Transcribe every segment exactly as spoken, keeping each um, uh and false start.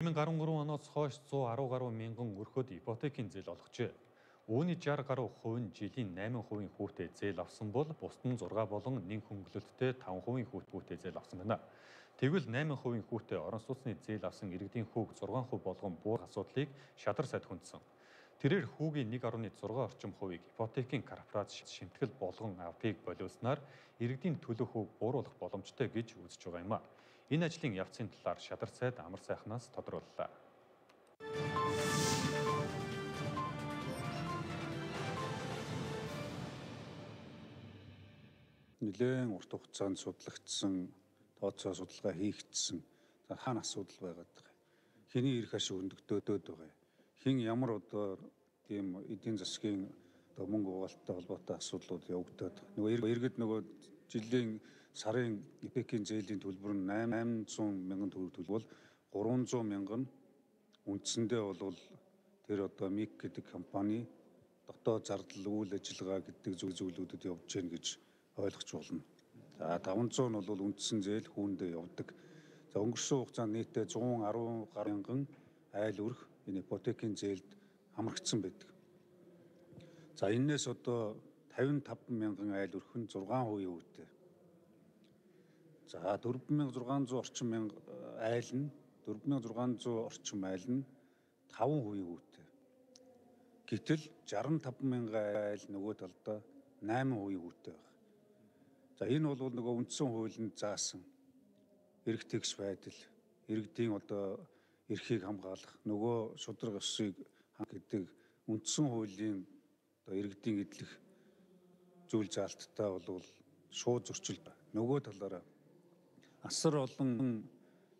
две тысячи двадцать три оноос хойш сто десять гаруй мянган өрхөд ипотекийн зээл олгожээ. Үүний шестьдесят гаруй хувь нь жилийн восемь хувийн хүүтэй зээл авсан бол бусд нь шесть болон нэг хөнгөлөлттэй пять хувийн хүүтэй зээл авсан байна. Тэгвэл восемь хувийн хүүтэй орон сууцны зээл авсан иргэдийн хүүг шесть хувь болгон буур асуудлыг шадар сайд хүндсэн. Тэрээр хүүгийн нэг дэх шесть орчим хувийг ипотекийн корпорац шимтгэл болгон авдгийг болиулснаар иргэдийн төлөх хүүг бууруулах боломжтой гэж үзэж байгаа юм а. Энэ ажлын явцын талаар шадар сайд амар сайхнаас тодрууллаа. Нэлээд урт хугацаанд судлагдсан, тооцоо судалгаа хийгдсэн хаана асуудал байгаад байгаа. Хэний эрх ашиг өндөгдөөд байгаа. Хин ямар одоо тийм эдийн засгийн одоо мөнгө угаалттай холбоотой асуудлууд явагдаад нөгөө иргэд нөгөө жилийн сарын ипотекийн зээлийн төлбөр нь восемьсот мянган төгрөг төлбөл trois hundred мянган үндсэндээ бол тэр одоо МИК гэдэг компани дотоод зардал үйл ажиллагаа гэдэг зүйлүүдэд явж гэн гэж ойлгож болно. За five hundred нь бол үндсэн зээл хүүндээ явдаг. За өнгөрсөн хугацаанд нийтдээ one ten гаруй мянган айл өрх энэ ипотекийн зээлд хамрагдсан байдаг. За энээс одоо fifty-five мянган айл өрх нь six хувийн үүтэй. За four thousand six hundred орчим мянга айл нь four thousand six hundred орчим айл нь five хувийн үүтэй. Гэтэл sixty-five мянган айл нөгөө талдаа eight хувийн үүтэй байна. За энэ бол нөгөө үндсэн хуулинд заасан эрх тэгш байдал, иргэдийн одоо эрхийг хамгаалах, нөгөө шударга ёсыг гэдэг үндсэн хуулийн одоо иргэдийн эдлэх зүйл заалттай бол шууд зөрчил байна. Нөгөө талаараа асар олон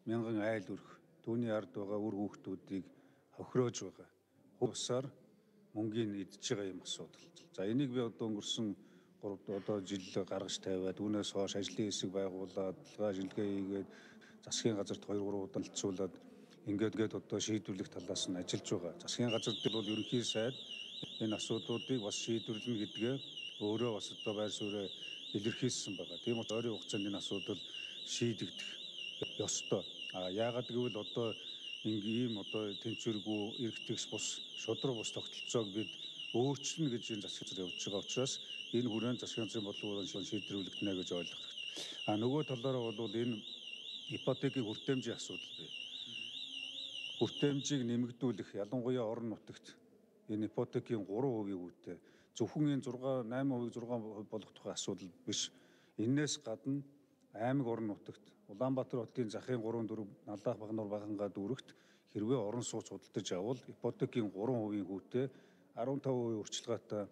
мянган айл өрх түүний ард байгаа үр хүүхдүүдийг хохироож байгаа. Хувьсаар мөнгөний идж байгаа юм асуудал. За энийг би одоо өнгөрсөн гурав одоо жил гаргаж тавиад үүнээс хойш ажлын хэсэг байгуулад, дэлгаа шилгээ хийгээд засгийн газарт two three удаа хэлцүүлээд ингээд гээд одоо шийдвэрлэх талаас нь ажиллаж байгаа. Засгийн газар дээр бол ерөнхий сайд энэ асуудлуудыг бас шийдвэрлэнэ гэдгээ өөрөө бас одоо байр суурь илэрхийлсэн байгаа. Тийм учраас ойрын хугацаанд энэ асуудал шийдэгдэх ёстой. А яагаад гэвэл одоо ийм одоо тэнцвэргүй эргэтгэж бус шудраг бус тогтолцоог бид өөрчлөнө гэж энэ засгийн газар явж байгаа учраас энэ хүрээнд засгийн газрын бодлогоор шийдвэрлэгдэнэ гэж ойлгох хэрэгтэй. А нөгөө талаараа бол энэ ипотекийн хүртээмжийн асуудал бий. Хүртээмжийг нэмэгдүүлэх ялангуяа орон нутагт энэ ипотекийн three хувийн үүтэй зөвхөн энэ six eight хувийг six хувь болох тухай асуудал биш. Энээс гадна аймаг орон нутагт Улаанбаатар хотын захын three four Наллах Багнуур Багангаа дүүрэгт хэрвээ орон сууц худалдаж авал ипотекийн three хувийн хүүтэй fifteen хувийн урчилгаатай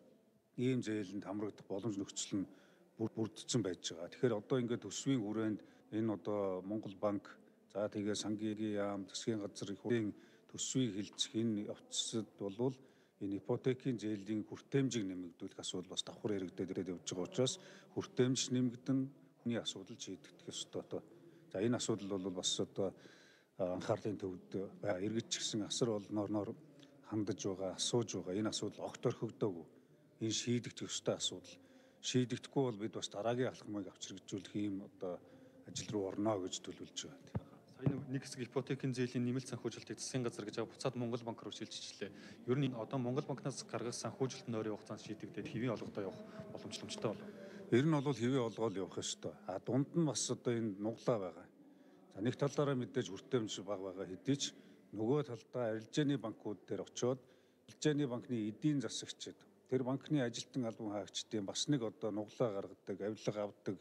ийм зээлэнд хамрагдах боломж нөхцөл нь бүрдсэн байж байгаа. Тэгэхээр одоо ингээд төсвийн хүрээнд энэ одоо Монгол банк за тэгээ сангийн яам засгийн газар их үеийн төсвийг хилцэх энэ явцад болвол энэ ипотекийн зээлийн хүртээмжийг нэмэгдүүлэх асуудал бас давхар яригдээд явж байгаа учраас хүртээмж нэмэгдэн хүний асуудал шийдэгдэх ёстой. За энэ асуудал бол бас одоо анхаарлын төвд иргэд ч гэсэн асар олноор хандаж байгаа, асууж байгаа энэ асуудал огт орхигдоогүй. Энэ шийдэгдэх ёстой асуудал. Шийдэгдэхгүй бол бид бас дараагийн алхмыг авчиргажуулах ийм одоо ажил руу орно гэж төлөвлөж байгаа. Сая нэг хэсэг ипотекийн зээлийн нэмэлт санхүүжилтийг засгийн газар гэж буцаад Монгол банк руу шилжчихлээ. Ер нь одоо Монгол банкнаас гаргах санхүүжилт нь ойрын хугацаанд шийдэгдээд хэвийн олгодоо явах боломжтой болов. Ер нь бол хэвийн олгоод явах ёстой. А дунд нь бас одоо энэ нуглаа байгаа. За нэг талаараа мэдээж хүртээмж бага байгаа хэдий ч нөгөө талдаа арилжааны банкуд дээр очиод арилжааны банкны эдийн засагчид тэр банкны ажилтан албан хаагчдын бас нэг одоо нуглаа гаргадаг, авилга авдаг,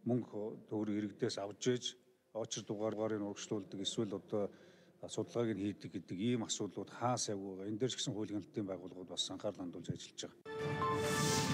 мөнгө төгрөг иргэдээс авж ээж очир дугаарыг урагшлуулдаг эсвэл одоо судалгааг нь хийдэг гэдэг ийм асуудлууд хаас явгүй байгаа. Энэ дээр ч гэсэн хуулийн хяналтын байгууллагууд бас анхаарал хандуулж ажиллаж байгаа.